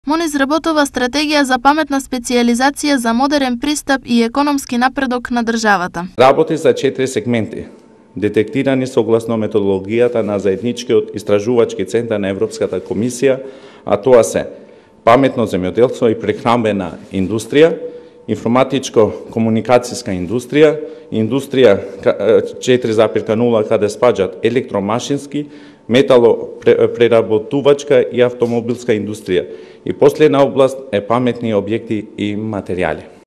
МОН изработува стратегија за паметна специјализација за модерен пристап и економски напредок на државата. Работи за 4 сегменти, детектирани согласно методологијата на заедничкиот истражувачки центар на Европската комисија, а тоа се паметно земјоделство и прехранбена индустрија, информатичко-комуникацијска индустрија, индустрија 4.0 каде спаѓаат електромашински, металопреработувачка и автомобилска индустрија. И последна област е паметни објекти и материјали.